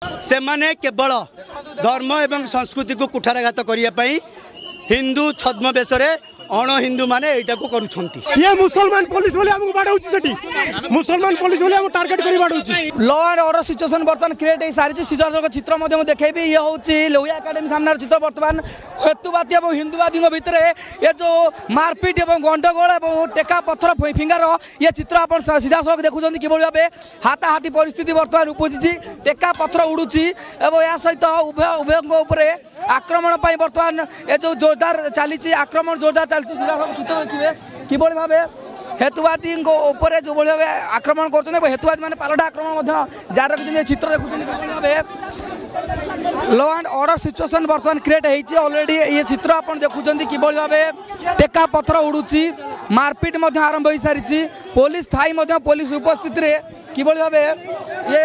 ସେମାନେ କେବଳ ଧର୍ମ ଏବଂ ସଂସ୍କୃତିକୁ କୁଠାରାଘାତ କରିବା ପାଇଁ ହିନ୍ଦୁ ଛଦ୍ମବେଶରେ ଅଣ ହିନ୍ଦୁମାନେ ଏଇଟାକୁ କରୁଛନ୍ତି। ଇଏ ମୁସଲମାନ ପୋଲିସ ବୋଲି ଆମକୁ ବାଡ଼ଉଛି, ସେଠି ମୁସଲମାନ ପୋଲିସ ବୋଲି ଆମକୁ ଟାର୍ଗେଟ କରି ବାଡ଼ଉଛି। ଲ ଆଣ୍ଡ ଅର୍ଡର ସିଚୁଏସନ ବର୍ତ୍ତମାନ କ୍ରିଏଟ୍ ହେଇସାରିଛି। ସିଧାସଳଖ ଚିତ୍ର ମଧ୍ୟ ମୁଁ ଦେଖେଇବି। ଇଏ ହେଉଛି ଲୋହିଆ ଏକାଡେମୀ ସାମ୍ନାର ଚିତ୍ର। ବର୍ତ୍ତମାନ ହେତୁବାଦୀ ଏବଂ ହିନ୍ଦୁବାଦୀଙ୍କ ଭିତରେ ଏ ଯେଉଁ ମାରପିଟ ଏବଂ ଗଣ୍ଡଗୋଳ ଏବଂ ଟେକା ପଥର ଫିଙ୍ଗାର ଇଏ ଚିତ୍ର ଆପଣ ସିଧାସଳଖ ଦେଖୁଛନ୍ତି। କିଭଳି ଭାବେ ହାତାହାତି ପରିସ୍ଥିତି ବର୍ତ୍ତମାନ ଉପୁଜିଛି, ଟେକା ପଥର ଉଡୁଛି ଏବଂ ଏହା ସହିତ ଉଭୟ ଉଭୟଙ୍କ ଉପରେ ଆକ୍ରମଣ ପାଇଁ ବର୍ତ୍ତମାନ ଏ ଯେଉଁ ଜୋରଦାର ଚାଲିଛି, ଆକ୍ରମଣ ଜୋରଦାର ଚାଲିଛି। ସିଧାସଳଖ ଚିତ୍ର ଦେଖିବେ କିଭଳି ଭାବେ ହେତୁବାଦୀଙ୍କ ଉପରେ ଯେଉଁଭଳି ଭାବେ ଆକ୍ରମଣ କରୁଛନ୍ତି ଏବଂ ହେତୁବାଦୀ ମାନେ ପାଲଟା ଆକ୍ରମଣ ମଧ୍ୟ ଜାରି ରଖିଛନ୍ତି। ଏ ଚିତ୍ର ଦେଖୁଛନ୍ତି କିଭଳି ଭାବେ ଲ ଆଣ୍ଡ ଅର୍ଡର ସିଚୁଏସନ ବର୍ତ୍ତମାନ କ୍ରିଏଟ୍ ହେଇଛି ଅଲରେଡ଼ି। ଇଏ ଚିତ୍ର ଆପଣ ଦେଖୁଛନ୍ତି କିଭଳି ଭାବେ ଟେକା ପଥର ଉଡୁଛି, ମାରପିଟ ମଧ୍ୟ ଆରମ୍ଭ ହୋଇସାରିଛି। ପୋଲିସ ଥାଇ ମଧ୍ୟ, ପୋଲିସ ଉପସ୍ଥିତିରେ କିଭଳି ଭାବେ ଇଏ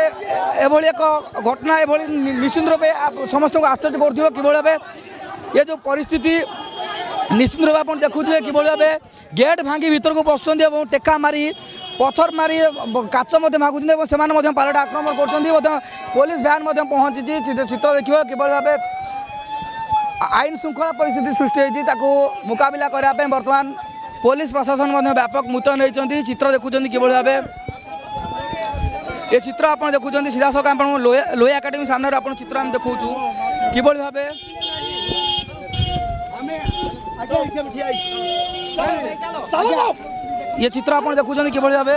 ଏଭଳି ଏକ ଘଟଣା ଏଭଳି ନିଶ୍ଚିତ ରୂପେ ସମସ୍ତଙ୍କୁ ଆଶ୍ଚର୍ଯ୍ୟ କରୁଥିବ। କିଭଳି ଭାବେ ଏ ଯେଉଁ ପରିସ୍ଥିତି ନିଶ୍ଚିତ ରୂପେ ଆପଣ ଦେଖୁଥିବେ, କିଭଳି ଭାବେ ଗେଟ୍ ଭାଙ୍ଗି ଭିତରକୁ ପଶୁଛନ୍ତି ଏବଂ ଟେକା ମାରି, ପଥର ମାରି, କାଚ ମଧ୍ୟ ଭାଙ୍ଗୁଛନ୍ତି ଏବଂ ସେମାନେ ମଧ୍ୟ ପାଲଟା ଆକ୍ରମଣ କରୁଛନ୍ତି। ମଧ୍ୟ ପୋଲିସ ଭ୍ୟାନ୍ ମଧ୍ୟ ପହଞ୍ଚିଛି। ଚିତ୍ର ଦେଖିବ କିଭଳି ଭାବେ ଆଇନ ଶୃଙ୍ଖଳା ପରିସ୍ଥିତି ସୃଷ୍ଟି ହେଇଛି, ତାକୁ ମୁକାବିଲା କରିବା ପାଇଁ ବର୍ତ୍ତମାନ ପୋଲିସ ପ୍ରଶାସନ ମଧ୍ୟ ବ୍ୟାପକ ମୁତୟନ ହେଇଛନ୍ତି। ଚିତ୍ର ଦେଖୁଛନ୍ତି କିଭଳି ଭାବେ ଏ ଚିତ୍ର ଆପଣ ଦେଖୁଛନ୍ତି ସିଧାସଳଖ ଆପଣ ଲୋହିଆ ଏକାଡେମୀ ସାମ୍ନାରେ ଆପଣ ଚିତ୍ର ଆମେ ଦେଖାଉଛୁ କିଭଳି ଭାବେ ଇଏ ଚିତ୍ର ଆପଣ ଦେଖୁଛନ୍ତି କିଭଳି ଭାବେ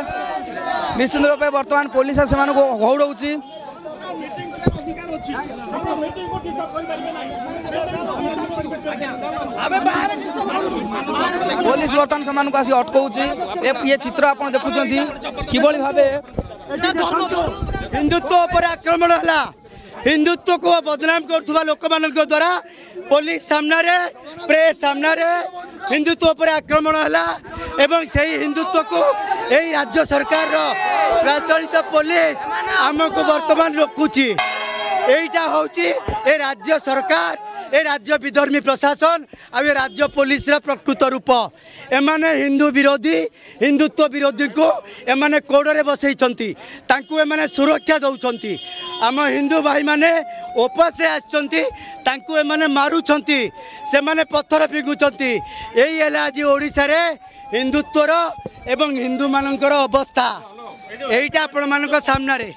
ନିଶ୍ଚିତ ରୂପେ ବର୍ତ୍ତମାନ ପୋଲିସ ସେମାନଙ୍କୁ ଘଉଡ଼ଉଛି। ପୋଲିସ ବର୍ତ୍ତମାନ ସେମାନଙ୍କୁ ଆସି ଅଟକାଉଛି। ଇଏ ଚିତ୍ର ଆପଣ ଦେଖୁଛନ୍ତି କିଭଳି ଭାବେ ହିନ୍ଦୁତ୍ୱ ଉପରେ ଆକ୍ରମଣ ହେଲା। ହିନ୍ଦୁତ୍ୱକୁ ବଦନାମ କରୁଥିବା ଲୋକମାନଙ୍କ ଦ୍ୱାରା ପୋଲିସ ସାମ୍ନାରେ, ପ୍ରେସ୍ ସାମ୍ନାରେ ହିନ୍ଦୁତ୍ୱ ଉପରେ ଆକ୍ରମଣ ହେଲା ଏବଂ ସେଇ ହିନ୍ଦୁତ୍ୱକୁ ଏଇ ରାଜ୍ୟ ସରକାରର ପ୍ରଚଳିତ ପୋଲିସ ଆମକୁ ବର୍ତ୍ତମାନ ରୋକୁଛି। ଏଇଟା ହେଉଛି ଏ ରାଜ୍ୟ ସରକାର, ଏ ରାଜ୍ୟ ବିଧର୍ମୀ ପ୍ରଶାସନ ଆଉ ଏ ରାଜ୍ୟ ପୋଲିସର ପ୍ରକୃତ ରୂପ। ଏମାନେ ହିନ୍ଦୁ ବିରୋଧୀ, ହିନ୍ଦୁତ୍ୱ ବିରୋଧୀଙ୍କୁ ଏମାନେ କୋଡ଼ରେ ବସେଇଛନ୍ତି, ତାଙ୍କୁ ଏମାନେ ସୁରକ୍ଷା ଦେଉଛନ୍ତି। ଆମ ହିନ୍ଦୁ ଭାଇମାନେ ଉପାସରେ ଆସିଛନ୍ତି, ତାଙ୍କୁ ଏମାନେ ମାରୁଛନ୍ତି, ସେମାନେ ପଥର ଫିଙ୍ଗୁଛନ୍ତି। ଏଇ ହେଲା ଆଜି ଓଡ଼ିଶାରେ ହିନ୍ଦୁତ୍ୱର ଏବଂ ହିନ୍ଦୁମାନଙ୍କର ଅବସ୍ଥା। ଏଇଟା ଆପଣମାନଙ୍କ ସାମ୍ନାରେ।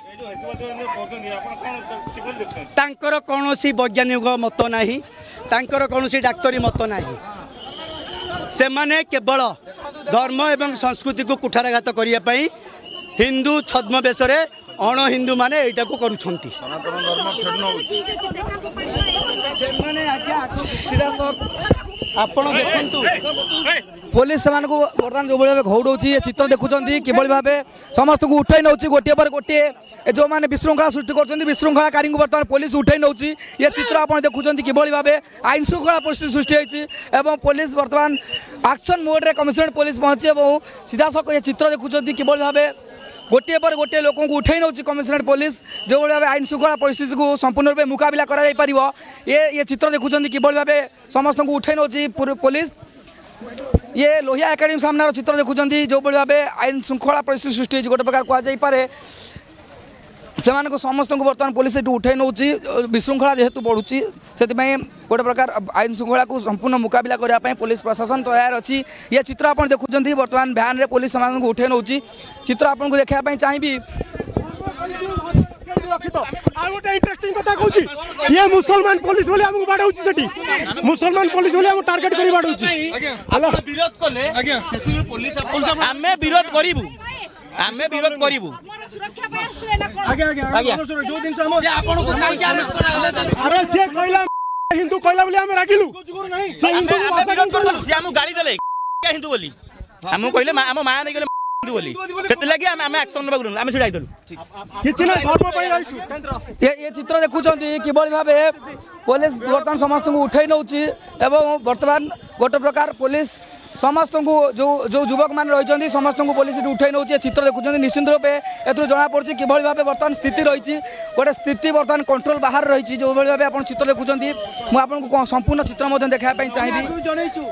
ତାଙ୍କର କୌଣସି ବୈଜ୍ଞାନିକ ମତ ନାହିଁ, ତାଙ୍କର କୌଣସି ଡାକ୍ତରୀ ମତ ନାହିଁ। ସେମାନେ କେବଳ ଧର୍ମ ଏବଂ ସଂସ୍କୃତିକୁ କୁଠାରାଘାତ କରିବା ପାଇଁ ହିନ୍ଦୁ ଛଦ୍ମବେଶରେ ଅଣ ହିନ୍ଦୁମାନେ ଏଇଟାକୁ କରୁଛନ୍ତି। ସେମାନେ ଆଜ୍ଞା ସିଧାସଳଖ ଆପଣ ଦେଖନ୍ତୁ, ପୋଲିସ ସେମାନଙ୍କୁ ବର୍ତ୍ତମାନ ଯେଉଁଭଳି ଭାବେ ଘଉଡ଼ଉଛି, ଏ ଚିତ୍ର ଦେଖୁଛନ୍ତି କିଭଳି ଭାବେ ସମସ୍ତଙ୍କୁ ଉଠାଇ ନେଉଛି ଗୋଟିଏ ପରେ ଗୋଟିଏ। ଏ ଯେଉଁମାନେ ବିଶୃଙ୍ଖଳା ସୃଷ୍ଟି କରୁଛନ୍ତି, ବିଶୃଙ୍ଖଳାକାରୀଙ୍କୁ ବର୍ତ୍ତମାନ ପୋଲିସ ଉଠାଇ ନେଉଛି। ଏ ଚିତ୍ର ଆପଣ ଦେଖୁଛନ୍ତି କିଭଳି ଭାବେ ଆଇନ ଶୃଙ୍ଖଳା ପରିସ୍ଥିତି ସୃଷ୍ଟି ହେଇଛି ଏବଂ ପୋଲିସ ବର୍ତ୍ତମାନ ଆକ୍ସନ୍ ମୋଡ଼ରେ କମିଶନରେଟ୍ ପୋଲିସ ପହଞ୍ଚି ଏବଂ ସିଧାସଳଖ ଏ ଚିତ୍ର ଦେଖୁଛନ୍ତି କିଭଳି ଭାବେ ଗୋଟିଏ ପରେ ଗୋଟିଏ ଲୋକଙ୍କୁ ଉଠାଇ ନେଉଛି କମିଶନରେଟ୍ ପୋଲିସ। ଯେଉଁଭଳି ଭାବେ ଆଇନ ଶୃଙ୍ଖଳା ପରିସ୍ଥିତିକୁ ସମ୍ପୂର୍ଣ୍ଣ ରୂପେ ମୁକାବିଲା କରାଯାଇପାରିବ, ଏ ଚିତ୍ର ଦେଖୁଛନ୍ତି କିଭଳି ଭାବେ ସମସ୍ତଙ୍କୁ ଉଠାଇ ନେଉଛି ପୋଲିସ। ଇଏ ଲୋହିଆ ଏକାଡେମୀ ସାମ୍ନାର ଚିତ୍ର ଦେଖୁଛନ୍ତି, ଯେଉଁଭଳି ଭାବେ ଆଇନ ଶୃଙ୍ଖଳା ପରିସ୍ଥିତି ସୃଷ୍ଟି ହେଇଛି ଗୋଟେ ପ୍ରକାର କୁହାଯାଇପାରେ। ସେମାନଙ୍କୁ ସମସ୍ତଙ୍କୁ ବର୍ତ୍ତମାନ ପୋଲିସ ଏଠୁ ଉଠାଇ ନେଉଛି। ବିଶୃଙ୍ଖଳା ଯେହେତୁ ବଢ଼ୁଛି, ସେଥିପାଇଁ ଗୋଟେ ପ୍ରକାର ଆଇନ ଶୃଙ୍ଖଳାକୁ ସମ୍ପୂର୍ଣ୍ଣ ମୁକାବିଲା କରିବା ପାଇଁ ପୋଲିସ ପ୍ରଶାସନ ତୟାର ଅଛି। ଇଏ ଚିତ୍ର ଆପଣ ଦେଖୁଛନ୍ତି, ବର୍ତ୍ତମାନ ଭ୍ୟାନ୍ରେ ପୋଲିସ ସେମାନଙ୍କୁ ଉଠାଇ ନେଉଛି। ଚିତ୍ର ଆପଣଙ୍କୁ ଦେଖିବା ପାଇଁ ଚାହିଁବି। ଆଉ ଗୋଟେ ଇଣ୍ଟରେଷ୍ଟିଂ କଥା କହୁଛି, ଇଏ ମୁସଲମାନ ପୋଲିସ ବୋଲି ଆମକୁ ବାଡ଼ଉଛି, ସେଠି ମୁସଲମାନ ପୋଲିସ ବୋଲି ଆମକୁ ଟାର୍ଗେଟ କରି ବାଡ଼ଉଛି। ବିରୋଧ କଲେ ଆମେ ବିରୋଧ କରିବୁ, ଆମେ ବିରୋଧ କରିବୁ। ଆରେ ସିଏ କହିଲା ହିନ୍ଦୁ କହିଲା ବୋଲି ଆମେ ରାଗିଲୁ? ସେ ହିନ୍ଦୁ, ସିଏ ଆମକୁ ଗାଳି ଦେଲେ ହିନ୍ଦୁ ବୋଲି, ଆମକୁ କହିଲେ ଆମ ମା ନେଇଗଲେ ହିନ୍ଦୁ ବୋଲି, ସେଥିଲାଗି ଆମେ ଆକ୍ସନ ନେବାକୁ ଆମେ ଛିଡ଼ା ହେଇଥିଲୁ। କିଛି ନାହିଁ, ଧର୍ମ ପାଇଁ ରହିଛୁ। ଏ ଚିତ୍ର ଦେଖୁଛନ୍ତି କିଭଳି ଭାବେ ପୋଲିସ ବର୍ତ୍ତମାନ ସମସ୍ତଙ୍କୁ ଉଠାଇ ନେଉଛି ଏବଂ ବର୍ତ୍ତମାନ ଗୋଟେ ପ୍ରକାର ପୋଲିସ ସମସ୍ତଙ୍କୁ, ଯେଉଁ ଯେଉଁ ଯୁବକମାନେ ରହିଛନ୍ତି ସମସ୍ତଙ୍କୁ ପୋଲିସ ଏଠି ଉଠାଇ ନେଉଛି। ଏ ଚିତ୍ର ଦେଖୁଛନ୍ତି, ନିଶ୍ଚିତ ରୂପେ ଏଥିରୁ ଜଣାପଡ଼ୁଛି କିଭଳି ଭାବେ ବର୍ତ୍ତମାନ ସ୍ଥିତି ରହିଛି। ଗୋଟେ ସ୍ଥିତି ବର୍ତ୍ତମାନ କଣ୍ଟ୍ରୋଲ ବାହାରେ ରହିଛି। ଯେଉଁଭଳି ଭାବେ ଆପଣ ଚିତ୍ର ଦେଖୁଛନ୍ତି, ମୁଁ ଆପଣଙ୍କୁ ସମ୍ପୂର୍ଣ୍ଣ ଚିତ୍ର ମଧ୍ୟ ଦେଖାଇବା ପାଇଁ ଚାହିଁବି। ଜଣେଇଛୁ।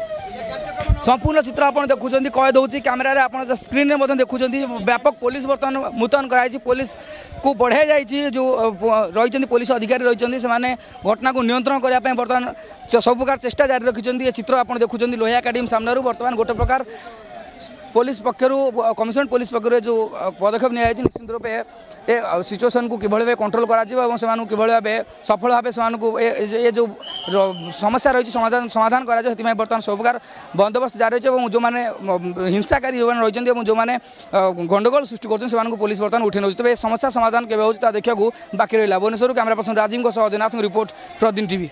ସମ୍ପୂର୍ଣ୍ଣ ଚିତ୍ର ଆପଣ ଦେଖୁଛନ୍ତି, କଏଦ ହେଉଛି କ୍ୟାମେରାରେ, ଆପଣ ସ୍କ୍ରିନ୍ରେ ମଧ୍ୟ ଦେଖୁଛନ୍ତି। ବ୍ୟାପକ ପୋଲିସ ବର୍ତ୍ତମାନ ମୁତୟନ କରାଯାଇଛି, ପୋଲିସକୁ ବଢ଼ାଇ ଯାଇଛି। ଯେଉଁ ରହିଛନ୍ତି ପୋଲିସ ଅଧିକାରୀ ରହିଛନ୍ତି, ସେମାନେ ଘଟଣାକୁ ନିୟନ୍ତ୍ରଣ କରିବା ପାଇଁ ବର୍ତ୍ତମାନ ସବୁ ପ୍ରକାର ଚେଷ୍ଟା ଜାରି ରଖିଛନ୍ତି। ଏ ଚିତ୍ର ଆପଣ ଦେଖୁଛନ୍ତି ଲୋହିଆ ଏକାଡେମୀ ସାମ୍ନାରୁ। ବର୍ତ୍ତମାନ ଗୋଟେ ପ୍ରକାର ପୋଲିସ ପକ୍ଷରୁ, କମିଶନରେଟ୍ ପୋଲିସ ପକ୍ଷରୁ ଯେଉଁ ପଦକ୍ଷେପ ନିଆଯାଇଛି, ନିଶ୍ଚିତ ରୂପେ ଏ ସିଚୁଏସନ୍କୁ କିଭଳି ଭାବେ କଣ୍ଟ୍ରୋଲ କରାଯିବ ଏବଂ ସେମାନଙ୍କୁ କିଭଳି ଭାବେ ସଫଳ ଭାବେ ସେମାନଙ୍କୁ ଏ ଯେଉଁ ସମସ୍ୟା ରହିଛି ସମାଧାନ କରାଯିବ, ସେଥିପାଇଁ ବର୍ତ୍ତମାନ ସବୁ ପ୍ରକାର ବନ୍ଦୋବସ୍ତ ଜାରି ରହିଛି। ଏବଂ ଯେଉଁମାନେ ହିଂସାକାରୀ ଯେଉଁମାନେ ରହିଛନ୍ତି ଏବଂ ଯେଉଁମାନେ ଗଣ୍ଡଗୋଳ ସୃଷ୍ଟି କରୁଛନ୍ତି, ସେମାନଙ୍କୁ ପୋଲିସ ବର୍ତ୍ତମାନ ଉଠେଇ ନେଉଛି। ତେବେ ଏ ସମସ୍ୟା ସମାଧାନ କେବେ ହେଉଛି, ତା ଦେଖିବାକୁ ବାକି ରହିଲା। ଭୁବନେଶ୍ୱରରୁ କ୍ୟାମେରା ପର୍ସନ ରାଜୀବଙ୍କ ସହ ଜନାଥଙ୍କ ରିପୋର୍ଟ, ପ୍ରତିଦିନ ଟିଭି।